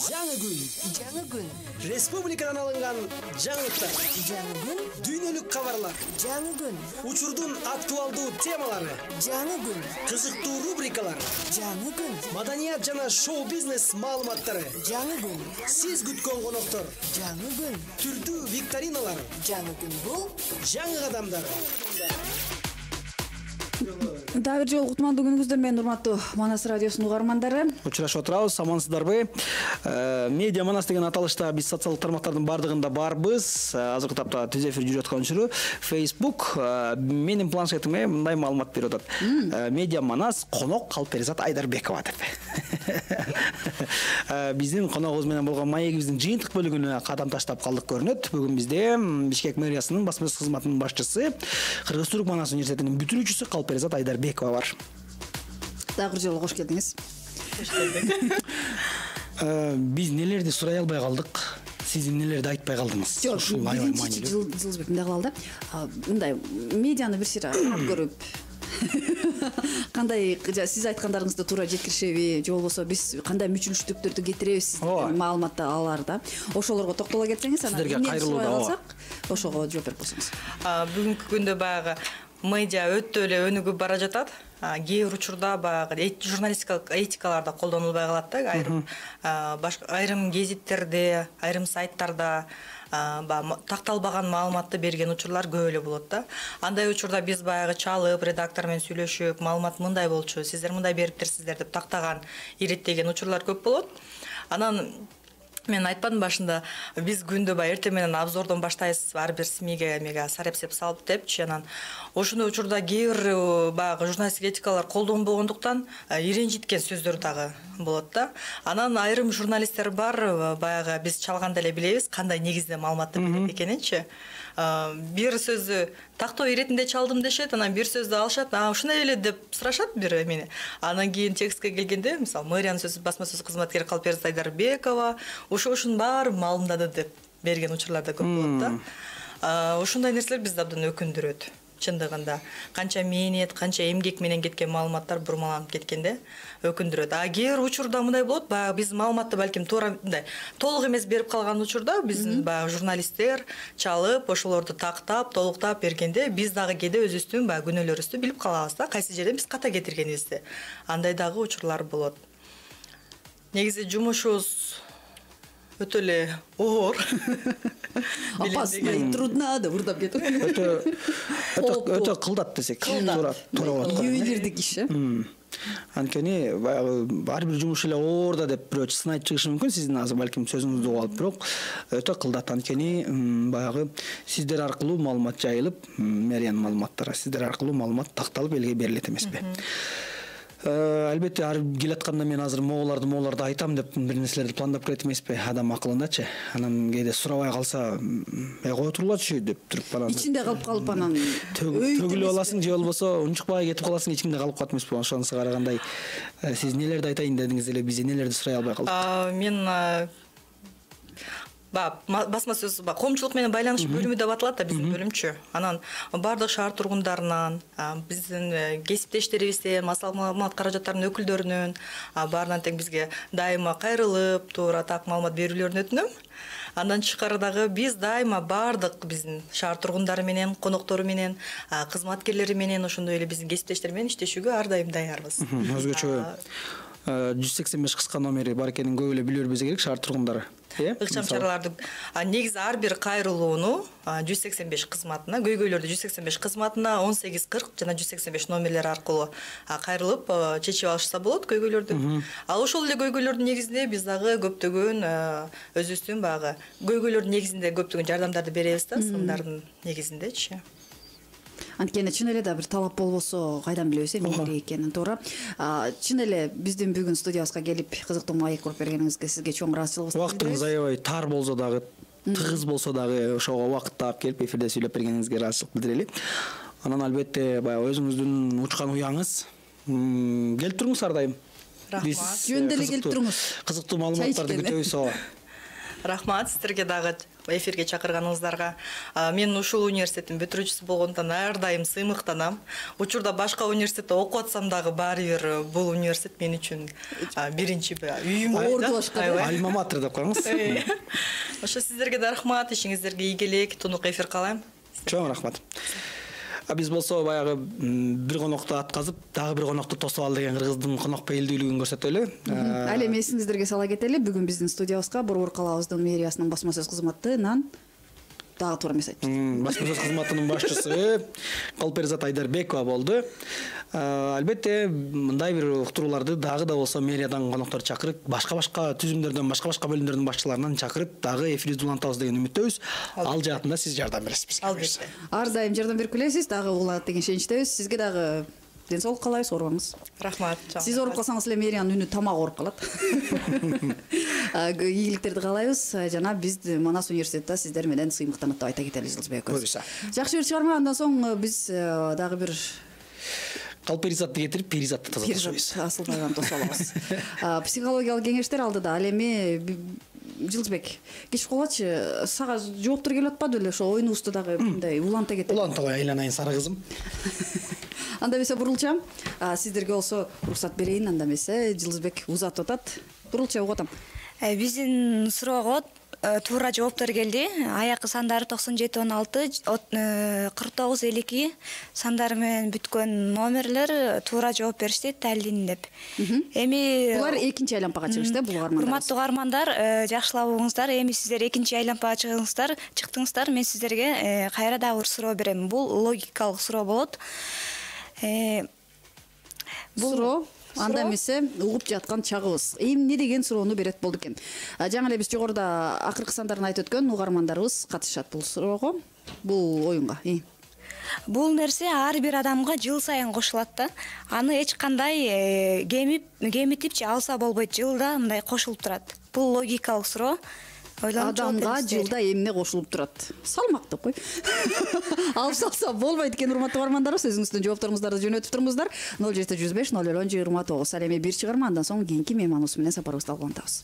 Жаңы күн. Республикадан алынган жаңылыктар. Жаңы күн. Дүйнөлүк кабарлар. Жаңы күн. Учурдун актуалдуу темалары. Жаңы күн. Кызыктуу рубрикалар. Жаңы күн. Маданият жана шоу-бизнес маалыматтары. Жаңы күн. Сиз күткөн коноктор. Жаңы күн. Түрдүү викториналар. Жаңы күн бул Жаңы кадамдар. Дагы бир жолу кутмандуу күнүңүздөр менен урматтуу Манас радиосунун угармандары. Учурашып отурабыз, амансыздарбы? Медиа Манас деген аталышта биз социалдык тармактардын бардыгында барбыз. Азыркы тапта түз эфир жүрүп аткан учуру Facebook менин планшетиме мындай маалымат берип атат. Медиа Манас конок Калперизат Айдарбекова деп. Биздин коногубуз менен болгон маегибиздин жыйынтык бөлүгүнө кадам таштап калдык көрүнөт. Бүгүн бизде Бишкек мэриясынын басма сөз кызматынын башчысы, Кыргыз Түрк Манас университетинин бүтүрүүчүсү Калперизат Айдарбекова бар. Дагы бир жолу кош келдиңиз. Кош келдик. Биз нелерди сурай албай калдык? Сиз нелерди айтпай калдыңыз? Жок, биринчи жылбек мындай кылалы да. Мындай медианы бир сыйра көрүп кандай сиз айткандарыңызды туура жеткиришеби, же болбосо биз кандай мүчүлүштүктөрдү кетиребиз деген маалыматты алар да. Ошолорго токтоло кетсеңиз, анан сиздерге кайрылуу да. Ошого жооп берип койсоңуз. Бүгүнкү күндө баягы медиа өтө эле өнүгүп бара жатат. Кээ бир учурда баягы журналистикалык этикаларда колдонулбай калат да. Айрым гезиттерде, айрым сайттарда такталбаган маалыматты берген учурлар көп эле болот да. Андай учурда биз баягы чалып, редактор менен сүйлөшүп, маалымат мындай болчу, сиздер мындай бериптирсиздер деп тактаган, иреттеген учурлар көп болот. Анан мен айтпадым башында, биз күндө эртең менен обзордон баштайбыз, ар бир СМИге сарепсеп салып депчи. Анан ошондой учурда кээ бир баягы журналистик этикалар колдонбогондуктан иренжиткен сөздөр дагы болот да. Анан айрым журналисттер бар, баягы биз чалганда эле билебиз кандай негизде маалыматты берет экенинчи. Бир сөздү тактоо иретинде чалдым дешет, анан бир сөздү алышат, ушундай эле деп сурашат бир мени. Анан кийин текстке келгенде, мисалы, мэриянын сөзү басма сөз кызматкери Калперизат Айдарбекова ошонун баарын маалымдады деп берген учурлар да көп болот да. Ошондой нерселер бизди абдан өкүндүрөт. Чындыгында канча мээнет, канча эмгек менен кеткен маалыматтар бурмаланып кеткенде өкүндүрөт. Кээ бир учурда мындай болот, баягы биз маалыматты балким туура мындай толук эмес берип калган учурда биздин баягы журналисттер чалып, ошолорду тактап, толуктап бергенде биз дагы кээде өзүбүздүн баягы күнөөлөрүбүздү билип калабыз да, кайсы жерден биз ката кетиргенибизди. Андай дагы учурлар болот. Негизи жумушубуз өтө эле оор. Опасно и трудно да урдап кетип. Өтө кылдат десек, туура болот. Ювелирдик иш. Анткени баягы ар бир жумуш эле оор да деп бирөө сынайт чыгышы мүмкүн, сиздин азыр балким сөзүңүздү угуп алып, бирок өтө кылдат. Анткени баягы сиздер аркылуу маалымат жайылып, мэриянын маалыматтары сиздер аркылуу маалымат такталып элге берилет эмеспи? Албетте ар келатканда мен азыр мооларды айтам деп бир нерселерди пландап келет эмеспи, адам акылындачы. Анан кээде сурабай калса, кое турулачы деп туруп анан ичинде калып анан төгүлүп аласың, же болбосо унчукпай кетип каласың, ичиңде калып калат эмеспи? Ошонусу карагандай сиз нелерди айтайын дедиңиз эле, биз нелерди сурай албай калдык? Мен басма сөз коомчулук менен байланыш бөлүмү деп аталат да биздин бөлүмчү. Анан бардык шаар тургундарынан, биздин кесиптештерибизден, маалымат каражаттарынын өкүлдөрүнөн баарынан тең бизге дайыма кайрылып, туура так маалымат берүүлөрүн өтүнөм. Андан тышкары дагы биз дайыма бардык биздин шаар тургундары менен, коноктору менен, кызматкерлери менен, ошондой эле биздин кесиптештер менен иштешүүгө ар дайым даярбыз. Өзгөчө 185 кыска номери бар экенин көп эле билүү керек шаар тургундары. Ыкчам чараларды негизи ар бир кайрылууну 185 кызматына, көйгөйлөрдү 185 кызматына 1840 жана 185 номерлери аркылуу кайрылып чечип алышса болот көйгөйлөрдү. Ал ошол эле көйгөйлөрдүн негизинде биз дагы көптөгөн өзүбүздүн баягы көйгөйлөрдүн негизинде көптөгөн жардамдарды беребиз да, сындардын негизиндечи. Анткени чын эле да бир талап болбосо кайдан билебиз эмне экенин, туура. Чын эле биздин бүгүн студиябызга келип кызыктуу маек куруп бергениңизге сизге чоң ыраазычылыгыбызды билдиребиз. Убактыңыз аябай тар болсо дагы, тыгыз болсо дагы ошого убакыт таап келип эфирде сүйлөп бергениңизге ыраазычылык билдирели. Анан албетте баягы өзүңүздүн учкан уяңыз келип туруңуз ар дайым. Рахмат. Жөн деле келип туруңуз. Кызыктуу маалыматтарды күтөбүз. Рахмат сиздерге дагы эфирге чакырганыңыздарга. Мен ушул университеттин бүтүрүүчүсү болгондон ар дайым сыймыктанам. Учурда башка университетте окуп атсам дагы баары бир бул университет мен үчүн биринчи үйүм. Альма матер деп коюңуз. Ошо сиздерге да рахмат, ишиңиздерге ийгилик, тунук эфир каалайм. Чоң рахмат. Биз болсо баягы бир конокту атказып, дагы бир конокту тосуп ал деген кыргыздын конок пейилдүүлүгүн көрсөтөлү. Ал эми эсиңиздерге сала кетели, бүгүн биздин студиябызга Борбор калаабыздын мэриясынын басма сөз кызматынан дагы туура эмес айтып. Басма сөз кызматынын башчысы Калперизат Айдарбекова болду. Албетте мындай бир уктурууларды дагы да болсо мэриядан коноктор чакырып, башка түзүмдөрдөн, башка бөлүмдөрдүн башчыларынан чакырып, дагы эфирибизди улантабыз деген үмүттөбүз. Ал жаатында сиз жардам бересиз. Албетте. Ар дайым жардам берип келесиз, дагы уланат деген ишеничтебиз. Сизге дагы ден соолук каалайбыз, оорубаңыз. Рахмат. Сиз ооруп калсаңыз эле мэриянын үнү тамак ооруп калат. Ийгиликтерди каалайбыз. Жана биз Манас университетте сиздер менен сыймыктанып деп айта кетели, Жылдызбек экөөбүз. Жакшы бир чыгарма, андан соң биз дагы бир Калперизатты кетирип, перизатты тазалашабыз. Асылбайдан тосуп алабыз. Психологиялык кеңештер алдыда. Ал эми Жылдызбек, кечип калгачы, сага жооптор келип атпады беле? Ошо оюнубузду дагы мындай уланта кетели. Улантабай айланайын сары кызым. Анда эмесе бурулчам. Сиздерге болсо уруксат берейин, анда эмесе Жылдызбек узатып атат. Бурулча угатам. Биздин суроого туура жооптор келди. Аякы сандары 9716 4952 сандары менен бүткөн номерлер туура жооп беришти, талдин деп. Эми булар экинчи айлампага чыгышты, бул угармандар. Урматтуу угармандар, жакшылап угуңуздар. Эми сиздер экинчи айлампага чыктыңыздар. Мен сиздерге кайра дагы бир суроо берем. Бул логикалык суроо болот. Бул суроо анда эмесе угуп жаткан чагыбыз. Эмне деген суроону берет болду экен. Жаңы эле биз жогоруда акыркы сандарын айтып өткөн угармандарыбыз катышат бул суроого, бул оюнга. Бул нерсе ар бир адамга жыл сайын кошулат да. Аны эч кандай кемитипчи алса болбойт. Жылда мындай кошулуп турат. Бул логикалык суроо. Адамга жылда эмне кошулуп турат? Салмактуу кой. Алып салса болбойт экен, урматтуу угармандарыбыз. Өзүңүздүн жоопторуңуздарды жөнөтүп туруңуздар. 0715 00 29. Ал эми бир чыгарма, андан соң кийинки мейманыбыз менен сапарыбызды улантабыз.